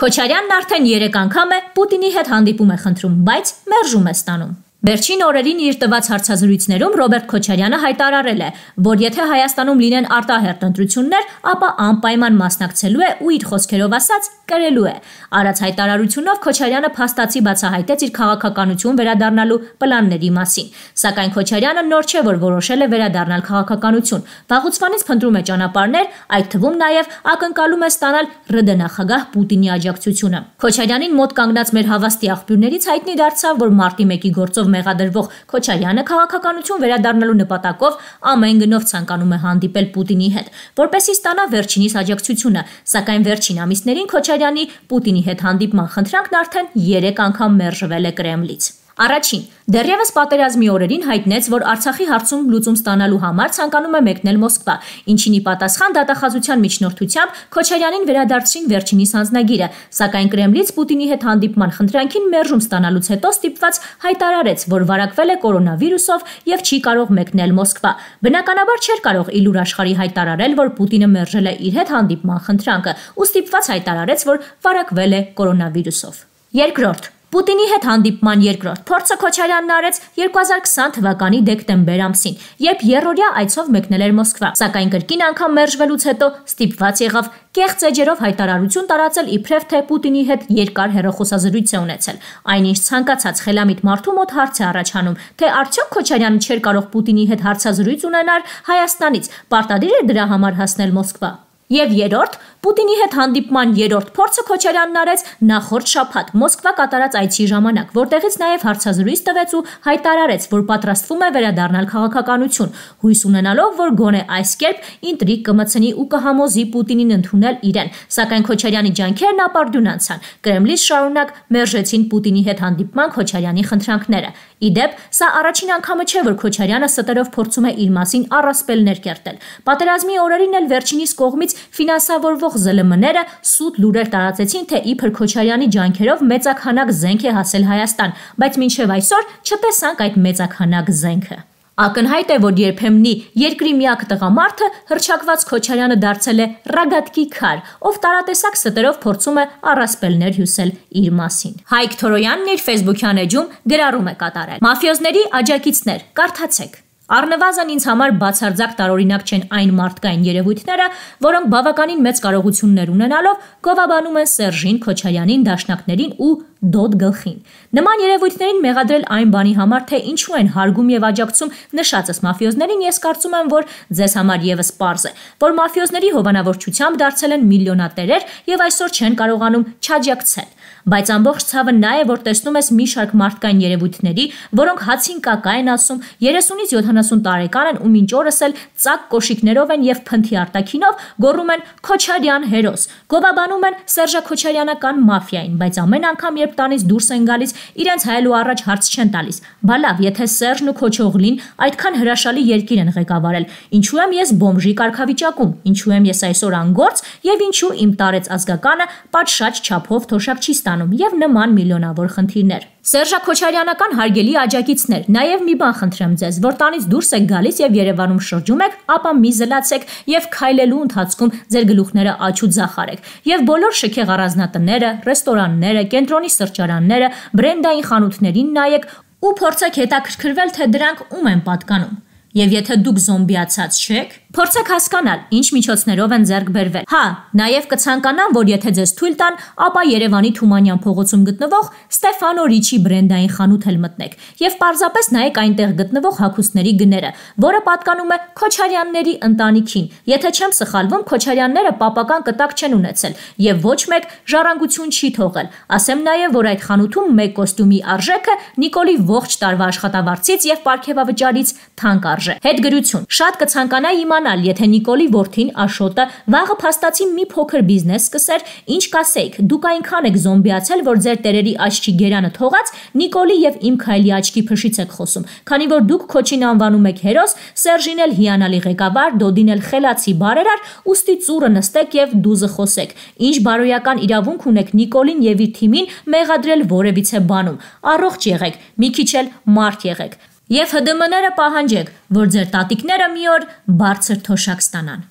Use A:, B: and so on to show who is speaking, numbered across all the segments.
A: Քոչարյանն արդեն 3 անգամ է Պուտինի հետ հանդիպում է խնդրում, բայց մերժում է ստանում։ Վերջին օրերին իր տված հարցազրույցներում Ռոբերտ Քոչարյանը հայտարարել է, որ եթե Հայաստանում լինեն արտահերթ ընտրություններ, ապա անպայման մասնակցելու է ու իր խոսքերով ասած կրելու է։ Արած հայտարարությունով Քոչարյանը փաստացի բացահայտեց իր քաղաքականություն վերադառնալու պլանների մասին։ Սակայն Քոչարյանը նոր չէ, որ որոշել է վերադառնալ քաղաքականություն։ Վաղուց փնտրում է ճանապարհներ, այդ թվում նաև ակնկալում է ստանալ ՌԴ նախագահ Պուտինի աջակցությունը։ Քոչարյանին մոտ կանգնած մեր հավաստի աղբյուրներից հայտնի դարձավ, որ մարտի 1-ի գործով մեղադրվող Քոչարյանը քաղաքականություն վերադառնալու նպատակով ամեն գնով ցանկանում է հանդիպել Պուտինի հետ, որպեսզի ստանա վերջինիս աջակցությունը, սակայն վերջին ամիսներին Քոչարյանի Պուտինի հետ հանդիպման խնդրանքն արդեն 3 անգամ մերժվել է Կրեմլից։ Առաջին, դեռևս պատերազմի օրերին հայտնեց, որ Արցախի հարցում լուծում ստանալու համար ցանկանում է մեկնել Մոսկվա, ինչին ի պատասխան դատախազության միջնորդությամբ Քոչարյանին վերադարձրին վերջինիս անձնագիրը, սակայն Կրեմլից Պուտինի հետ հանդիպման խնդրանքին մերժում ստանալուց հետո ստիպված հայտարարեց, որ վարակվել է կորոնավիրուսով եւ չի կարող մեկնել Մոսկվա։ Բնականաբար չէր կարող իլուր աշխարհի հայտարարել, որ Պուտինը մերժել է իր հետ հանդիպման խնդրանքը, ու ստիպված հայտարարեց, որ վարակվել է կորոնավիրուսով։ Երկրորդ, Պուտինի հետ հանդիպման երկրորդ փորձը Քոչարյանն արեց 2020 թվականի դեկտեմբեր ամսին, երբ երրորդյա այցով մեկնել էր Մոսկվա, սակայն կրկին անգամ մերժվելուց հետո ստիպված եղավ կեղծ էջերով հայտարարություն տարածել իբրև թե Պուտինի հետ երկար հեռախոսազրույց է ունեցել։ Այնինչ ցանկացած խելամիտ մարդու մոտ հարց է առաջանում, թե արդյոք Քոչարյանը չէր կարող Պուտինի հետ հարցազրույց ունենալ Հայաստանից, պարտադիր էր դրա համար հասնել Մոսկվա։ Եվ երրորդ, Պուտինի հետ հանդիպման երրորդ փորձը Քոչարյանն արեց նախորդ շաբաթ Մոսկվա կատարած այցի ժամանակ, որտեղից նաև հարցազրույց տվեց ու հայտարարեց, որ պատրաստվում է վերադառնալ քաղաքականություն, հույս ունենալով, որ գոնե այս կերպ ինտրիգ կմտցնի ու կհամոզի Պուտինին ընդունել իրեն, սակայն Քոչարյանի ջանքերն ապարդյուն անցան։ Կրեմլից շարունակ մերժեցին Պուտինի հետ հանդիպման Քոչարյանի խնդրանքները։ Իդեպ, սա առաջին անգամը չէ, որ Քոչարյանը ստերով փորձում է իր մասին առասպելներ կերտել։ Պատերազմի օրերին էլ վերջինիս կողմից ֆինանսավորվող ԶԼՄ-ները սուտ լուրեր տարածեցին, թե իբր Քոչարյանի ջանքերով մեծաքանակ զենք է հասել Հայաստան, բայց մինչև այսօր չտեսանք այդ մեծաքանակ զենքը։ Ակնհայտ է, որ երբեմնի երկրի միակ տղամարդը հռչակված Քոչարյանը դարձել է ռագատկի քար, ով տարատեսակ ստերով փորձում է առասպելներ հյուսել իր մասին։ Հայկ Թորոյանն իր Facebook-յան էջում գրառում է կատարել. Մաֆիոզների աջակիցներ, կարդացեք։ Առնվազն ինձ համար բացարձակ տարօրինակ չեն այն մարդկային երևույթները, որոնք բավականին մեծ կարողություններ ունենալով գովաբանում են Սերժին, Քոչարյանին, դաշնակներին ու դոդ գլխին։ Նման երևույթներին մեղադրել այն բանի համար, թե ինչու են հարգում եւ աջակցում նշածս մաֆիոզներին, ես կարծում եմ, որ ձեզ համար եւս պարզ է, որ մաֆիոզների հովանավորչությամբ դարձել են միլիոնատերեր եւ այսօր չեն կարողանում չաջակցել։ Բայց ամբողջ ցավը նա է, որ տեսնում ես մի շարք մարդկային երևույթների, որոնք հացին կակա են ասում, 30-ից 70 տարեկան են ու մինչ օրս էլ ծակ կոշիկներով են եւ փնթի արտաքինով գոռում են Քոչարյան հերոս, գովաբանում են Սերժա Քոչարյանական մաֆիային, բայց ամեն անգամ երբ տանից դուրս են գալիս, իրենց հայելու առաջ հարց չեն տալիս։ Բա լավ, եթե Սերժն ու Քոչօղլին այդքան հրաշալի երկիր են ղեկավարել, ինչու եմ ես բոմժի կարգավիճակում, ինչու եմ ես այսօր անգործ եւ ինչու իմ տարեց ազգականը պատշաճ չափով թոշակ չի ստանում եւ նման միլիոնավոր խնդիրներ։ Սերժա Քոչարյանական հարգելի աջակիցներ, նաև մի բան խնդրեմ ձեզ, որ տանից դուրս եք գալիս եւ Երևանում շրջում եք, ապա մի զլացեք եւ քայլելու ընթացքում ձեր գլուխները աչ ու ձախ արեք։ Եվ բոլոր շքեղ առանձնատները, ռեստորանները, կենտրոնի սրճարանները, բրենդային խանութներին նայեք ու փորձեք հետաքրքրվել, թե դրանք ում են պատկանում։ Եվ եթե դուք զոմբիացած չեք, փորձեք հասկանալ, ինչ միջոցներով են ձեռք բերվել։ Հա, նաև կցանկանամ, որ եթե ձեզ թույլ տան, ապա Երևանի Թումանյան փողոցում գտնվող Ստեֆանո Ռիչի բրենդային խանութ էլ մտնեք եւ պարզապես նայեք այնտեղ գտնվող հագուստների գները, որը պատկանում է Քոչարյանների ընտանիքին։ Եթե չեմ սխալվում, Քոչարյանները պապական կտակ չեն ունեցել եւ ոչ մեկ ժառանգություն չի թողել։ Ասեմ նաև, որ այդ խանութում մեկ կոստյումի արժեքը Նիկոլի ողջ տարվա աշխատավարձից եւ պարգևավճարից թանկ արժե։ Հետգրություն։ Շատ կցանկանայի իմանալ, եթե Նիկոլի որդին Աշոտը վաղը փաստացի մի փոքր բիզնես սկսեր, ինչ կասեիք, դուք այնքան եք զոմբիացել, որ ձեր տերերի աչքի գերանը թողած Նիկոլի եւ իմ քայլի աչքի փշից եք խոսում, քանի որ դուք Քոչին անվանում եք հերոս, Սերժին էլ հիանալի ղեկավար, Դոդին էլ խելացի բարերար, ուստի ծուռը նստեք եւ դուզը խոսեք։ Ինչ բարոյական իրավունք ունեք Նիկոլին եւ իր թիմին մեղադրել որևիցե բանում։ Առողջ եղեք, մի քիչ էլ մարդ եղեք։ Եվ ՀԴՄ-ները պահանջեք, որ ձեր տատիկները մի օր բարձր թոշակ ստանան։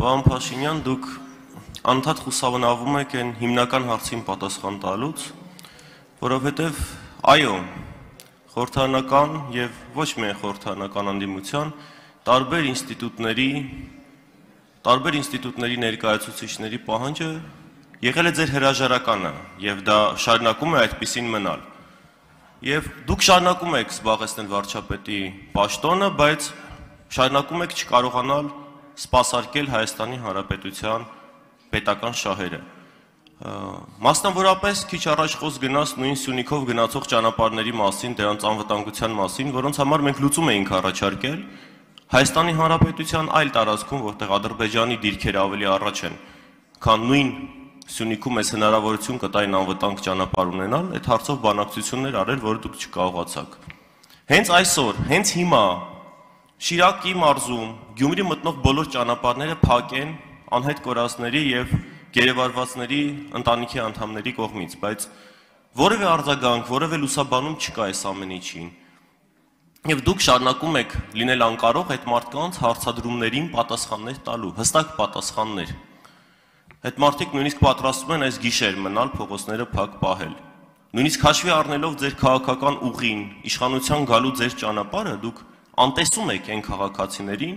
B: Պարոն Փաշինյան, դուք անդադ խուսափվում եք այն հիմնական հարցին պատասխան տալուց, որովհետև այո, խորհրդարանական եւ ոչ միայն խորհրդարանական անդիմության տարբեր ինստիտուտների ներկայացուցիչների պահանջը եղել է ձեր հրաժարականը եւ դա շարունակում է այդպիսին մնալ։ Եվ դուք շարունակում եք զբաղեցնել վարչապետի պաշտոնը, բայց շարունակում եք չկարողանալ սպասարկել Հայաստանի Հանրապետության պետական շահերը։ Մասնավորապես քիչ առաջ խոսք գնաց նույն Սյունիքով գնացող ճանապարհների մասին, դրանց անվտանգության մասին, որոնց համար մենք լուծում էինք առաջարկել Հայաստանի Հանրապետության այլ տարածքում, որտեղ Ադրբեջանի դիրքերը ավելի առաջ են, քան նույն Սյունիքում ես հնարավորություն կտային անվտանգ ճանապարհ ունենալ, այդ հարցով բանակցություններ արել, որը դուք չկարողացաք։ Հենց այսօր, հենց հիմա Շիրակի մարզում Գյումրի մտնող բոլոր ճանապարհները փակ են անհետ կորածների եւ գերեվարվածների ընտանիքի անդամների կողմից, բայց որևէ արձագանք, որևէ լուսաբանում չկա այս ամեն ինչին։ Եվ դուք շարունակում եք լինել անկարող այդ մարդկանց հարցադրումներին պատասխաններ տալու, հստակ պատասխաններ։ Այդ մարդիկ նույնիսկ պատրաստվում են այս գիշեր մնալ փողոցները փակ պահել։ Նույնիսկ հաշվի առնելով ձեր քաղաքական ուղին, իշխանության գալու ձեր ճանապարհը, դուք անտեսում եք այն քաղաքացիներին,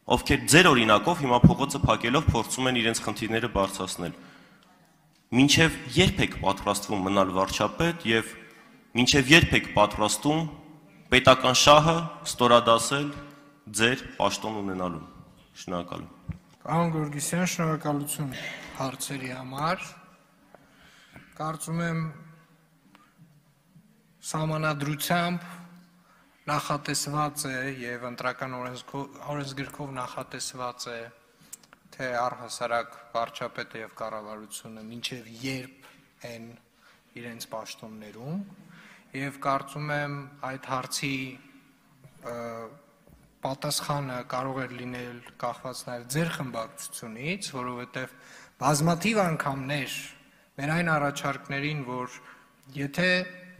B: ովքեր ձեր օրինակով հիմա փողոցը փակելով փորձում են իրենց խնդիրները բարձրացնել։ Մինչև երբ եք պատրաստվում մնալ վարչապետ եւ մինչև երբ եք պատրաստվում պետական շահը ստորադասել ձեր պաշտոն ունենալուն։ Շնորհակալ եմ։
C: Պարոն Գորգիսյան, շնորհակալություն հարցերի համար։ Կարծում եմ սահմանադրությամբ նախատեսված է եւ ընտրական օրենսգրքով նախատեսված է, թե առհասարակ վարչապետը եւ կառավարությունը մինչեւ երբ են իրենց պաշտոններում եւ կարծում եմ այդ հարցի պատասխանը կարող է լինել կախված նաև ձեր խմբակցությունից, որովհետև բազմաթիվ անգամներ մեր այն առաջարկներին, որ եթե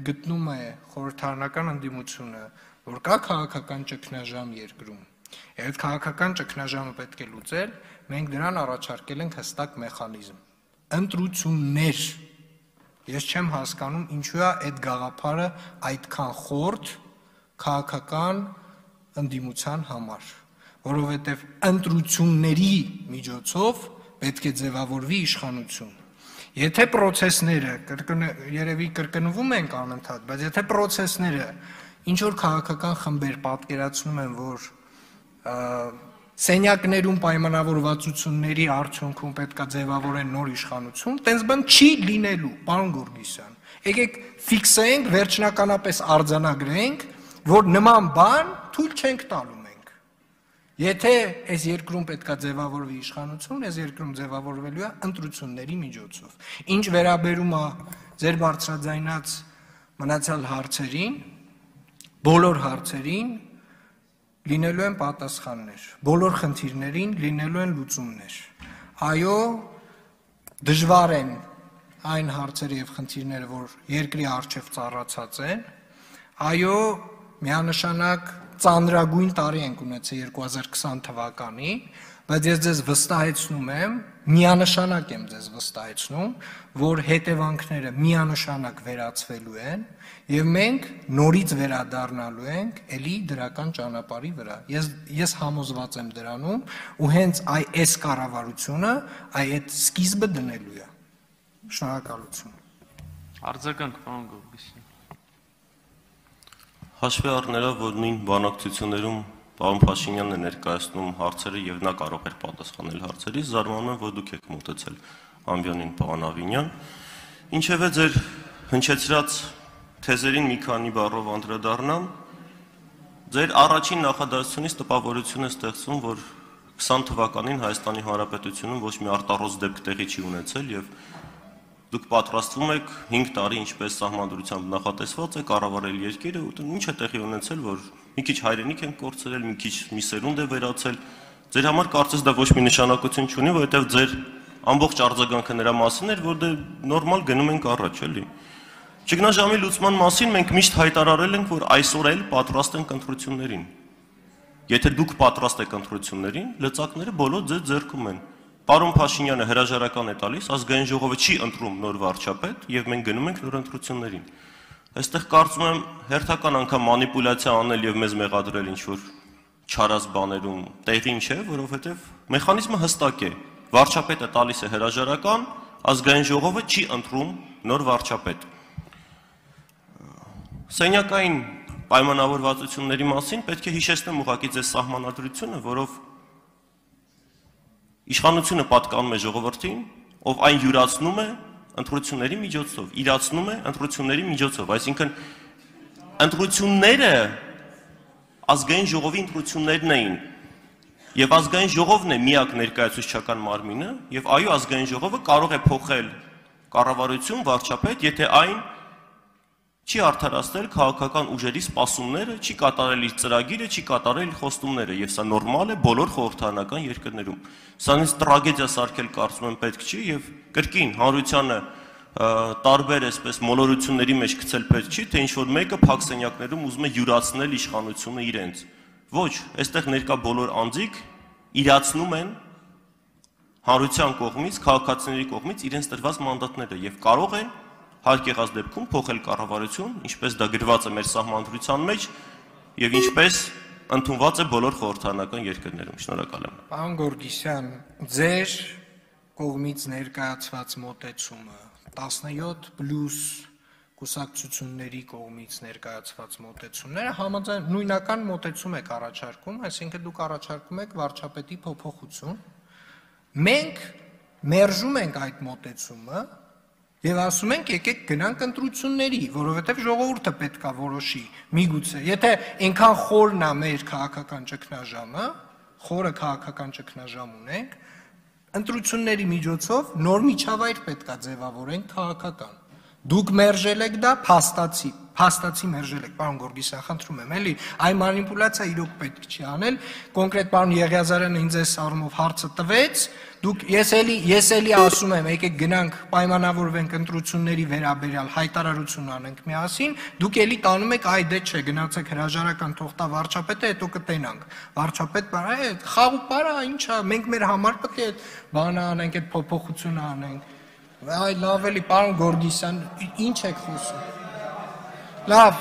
C: գտնում է խորհրդարանական ընդդիմությունը, որ կա քաղաքական ճգնաժամ երկրում, եւ այդ քաղաքական ճգնաժամը պետք է լուծել, մենք դրան առաջարկել ենք հստակ մեխանիզմ։ Ընտրություններ։ Ես չեմ հասկանում, ինչու է այդ գաղափարը այդքան խորտ քաղաքական ընդդիմության համար, որովհետև ընտրությունների միջոցով պետք է ձևավորվի իշխանություն։ Եթե պրոցեսները, երևի կրկնվում ենք անընդհատ, բայց եթե պրոցեսները ինչ որ քաղաքական խմբեր պատկերացնում են, որ սենյակներում պայմանավորվածությունների արդյունքում պետք է ձևավորեն նոր իշխանություն, տենց բան չի լինելու, պարոն Գորգիսյան։ Եկեք ֆիքսենք, վերջնականապես արձանագրենք, որ նման բան թույլ չենք տալու մենք։ Եթե այս երկրում պետք է ձևավորվի իշխանություն, այս երկրում ձևավորվելու է ընտրությունների միջոցով։ Ինչ վերաբերում է ձեր բարձրաձայնած մնացյալ հարցերին, բոլոր հարցերին լինելու են պատասխաններ, բոլոր խնդիրներին լինելու են լուծումներ։ Այո, դժվար են այն հարցերը եւ խնդիրները, որ երկրի առջև ծառացած են, այո, միանշանակ ծանրագույն տարի ենք ունեցել 2020 թվականին, բայց ես ձեզ վստահեցնում եմ, միանշանակ եմ ձեզ վստահեցնում, որ հետևանքները միանշանակ վերացվելու են եւ մենք նորից վերադառնալու ենք էլի դրական ճանապարհի վրա։ Ես համոզված եմ դրանում ու հենց այս կառավարությունը այդ սկիզբը դնելու է։ Շնորհակալություն։
D: Արձագանք, պարոն Գորգիսյան։
B: Հաշվի առնելով, որ նույն բանակցություններում պարոն Փաշինյանն է ներկայացնում հարցերը եւ նա կարող էր պատասխանել հարցերից, զարմանում եմ, որ դուք եք մոտեցել ամբիոնին պարոն Ավինյան։ Ինչևէ ձեր հնչեցրած թեզերին մի քանի բառով անդրադառնամ, ձեր առաջին նախադասությունից տպավորություն է ստեղծվում, որ 20 թվականին Հայաստանի Հանրապետությունում ոչ մի արտառոց դեպք տեղի չի ունեցել եւ դուք պատրաստվում եք 5 տարի ինչպես սահմանադրությամբ նախատեսված է կառավարել երկիրը, ու ինչ է տեղի ունեցել, որ մի քիչ հայրենիք են կորցրել, մի քիչ մի սերունդ է վերացել։ Ձեր համար կարծես դա ոչ մի նշանակություն չունի, որովհետև ձեր ամբողջ արձագանքը նրա մասին էր, որ դե նորմալ գնում ենք առաջ, էլի։ Ճգնաժամի լուծման մասին մենք միշտ հայտարարել ենք, որ այսօր էլ պատրաստ ենք ընտրություններին։ Եթե դուք պատրաստ եք ընտրություններին, լծակները բոլոր ձեր ձեռքում են։ Պարոն Փաշինյանը հրաժարական է տալիս, ազգային ժողովը չի ընտրում նոր վարչապետ եւ մենք գնում ենք նոր ընտրություններին։ Այստեղ կարծում եմ հերթական անգամ մանիպուլյացիա անել եւ մեզ մեղադրել ինչ-որ չարած բաներում տեղին չէ, որովհետեւ մեխանիզմը հստակ է։ Վարչապետը տալիս է հրաժարական, ազգային ժողովը չի ընտրում նոր վարչապետ։ Սենյակային պայմանավորվածությունների մասին պետք է հիշեցնեմ ուղղակի ձեզ սահմանադրությունը, որով իշխանությունը պատկանում է ժողովրդին, ով այն յուրացնում է ընտրությունների միջոցով, իրացնում է ընտրությունների միջոցով, այսինքն ընտրությունները ազգային ժողովի ընտրություններն էին, եւ ազգային ժողովն է միակ ներկայացուցչական մարմինը, եւ այո, ազգային ժողովը կարող է փոխել կառավարություն, վարչապետ, եթե այն չի արդարացնել քաղաքական ուժերի սպասումները, չի կատարել իր ծրագիրը, չի կատարել իր խոստումները, եւ սա նորմալ է բոլոր խորհրդարանական երկրներում։ Սրանից տրագեդիա սարքել կարծում եմ պետք չի եւ կրկին հանրությանը տարբեր այսպես մոլորությունների մեջ գցել պետք չի, թե ինչ որ մեկը փակ սենյակներում ուզում է յուրացնել իշխանությունը իրենց։ Ոչ, այստեղ ներկա բոլոր անձիկ իրացնում են հանրության կողմից, քաղաքացիների կողմից իրենց տրված մանդատները եւ կարող են հարկ եղած դեպքում փոխել կառավարություն, ինչպես դա գրված է մեր սահմանադրության մեջ եւ ինչպես ընդունված է բոլոր խորհրդարանական երկրներում։ Շնորհակալ եմ։
C: Պարոն Գորգիսյան, ձեր կողմից ներկայացված մոտեցումը 17+ կուսակցությունների կողմից ներկայացված մոտեցումները համաձայն նույնական մոտեցում եք առաջարկում, այսինքն դուք առաջարկում եք վարչապետի փոփոխություն։ Մենք մերժում ենք այդ մոտեցումը եւ ասում ենք եկեք գնանք ընտրությունների, որովհետեւ ժողովուրդը պետքա որոշի։ Միգուցե, եթե այնքան խորն է մեր քաղաքական ճգնաժամը, խորը քաղաքական ճգնաժամ ունենք, ընտրությունների միջոցով նոր միջավայր պետքա ձևավորենք քաղաքական։ Դուք մերժել եք դա, փաստացի մերժել եք, պարոն Գորգիսյան, խնդրում եմ, էլի, այն մանիպուլյացիա իրոք պետք չի անել, կոնկրետ պարոն Եղիազարյանը ինձ այս առումով հարցը տվեց, ես էլի ասում եմ, եկեք գնանք պայմանավորվենք ընտրությունների վերաբերյալ հայտարարություն անենք միասին, դուք էլի տանում եք, այ դե չէ, գնացեք հրաժարական թողտա վարչապետը, հետո կտենանք, վարչապետ բանը, խաղ ու պարա, ինչա, մենք մեր համար պետք է այդ բանը անենք, այդ փոփոխությունը անենք։ Այ լավ էլի, պարոն Գորգիսյան, ինչ եք խոսում։ Լավ,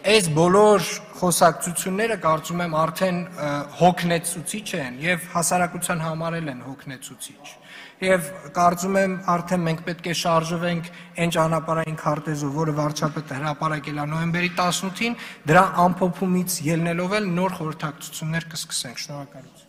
C: այս բոլոր խոսակցությունները կարծում եմ արդեն հոգնեցուցիչ են եւ հասարակության համար են հոգնեցուցիչ։ Եվ կարծում եմ արդեն մենք պետք է շարժվենք այն ճանապարհային քարտեզով, որը վարչապետը հրապարակել է նոյեմբերի 18-ին, դրա ամփոփումից ելնելով էլ նոր խորհրդակցություններ կսկսենք։ Շնորհակալություն։